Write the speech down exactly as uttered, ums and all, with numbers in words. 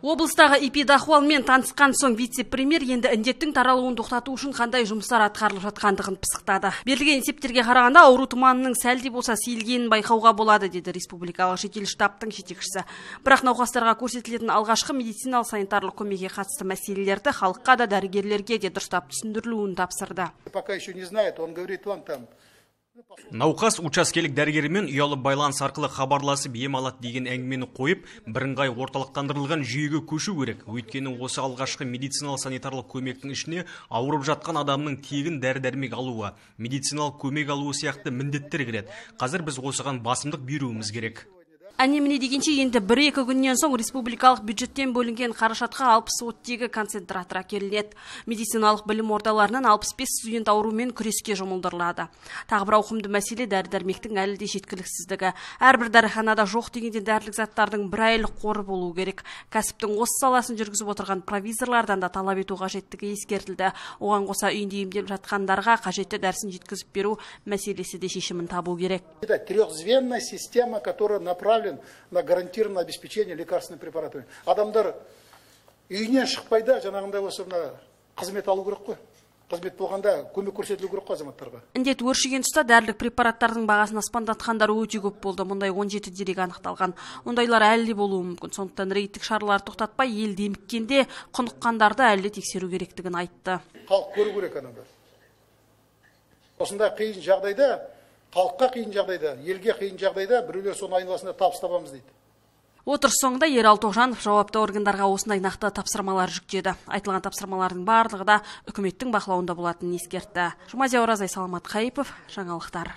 Облыстағы эпидахуалмен танысқан соң вице-премьер енді індеттің таралуын тоқтату үшін қандай жұмыстар атқарылып жатқандығын пысықтады. Берілген есептерге қарағанда ауру тұманының сәлде болса сейілгенін байқауға болады, деді республикалық жедел штабтың жетекшісі. Бірақ науқастарға көрсетілетін алғашқы медициналық санитарлық көмекке қатысты мәселелерді халыққа да дәрігерлерге де дұрыстап түсіндірілуін тапсырды. Пока еще не знает, он говорит вам там. Науқас учаскелік дәрігерімен ұялы байланыс арқылы хабарласып ем алады деген әңгімені қойып, бірыңғай орталықтандырылған жүйеге көшу керек. Өйткені осы алғашқы медициналық санитарлық көмектің ішіне ауырып жатқан адамның тегін дәрі-дәрмек алуы, медициналық көмек алуы сияқты міндеттер кіреді. Қазір біз осыған басымдық беруіміз керек. Әне-міне дегенше енді бір-екі күннен соң республикалық бюджеттен бөлінген қаражатқа алпыс оттегі концентратор әкелінеді. Медициналық білім ордаларынан алпыс бес студент аурумен күреске жұмылдырылады. Тағы бір ауқымды мәселе дәрі-дәрмектің әлі де жеткіліксіздігі. Әрбір дәріханада жоқ дегенде дәрілік заттардың бір айлық қоры болуы керек. Кәсіптің осы саласын жүргізіп отырған провизорлардан да талап ету қажеттігі ескертілді. Оған қоса үйінде емделіп жатқандарға қажетті дәрісін жеткізіп беру мәселесі де шешімін табу керек. Это трехзвенная система, которая направлена на гарантированное обеспечение лекарственными препаратами. Адамдар үйінен шықпайда жаңағындай осы мына қызмет алу керек қой. Қызмет болғанда көмек көрсетілу керек қой азаматтарға. Індет өршіген тұста дәрілік препараттардың бағасын аспандатқандар өте көп болды. Мұндай он жеті дерек анықталған. Ондайлар әлі де болуы мүмкін. Сондықтан рейдтік шаралар тоқтатпай ел деміккенде құныққандарды әлі тексеру керектігін айтты. Халық көру керек адамдар. Осындай қиын жағдайда, халыққа қиын жағдайда, елге қиын жағдайда біреулер соның айналасында табыс табамыз дейді. Отырыс соңында Ералы Тоғжанов жауапты органдарға осындай нақты тапсырмалар жүктеді. Айтылған тапсырмалардың барлығы да үкіметтің бақылауында болатынын ескертті. Жұмазия Оразай, Саламат Қайыпов, жаңалықтар.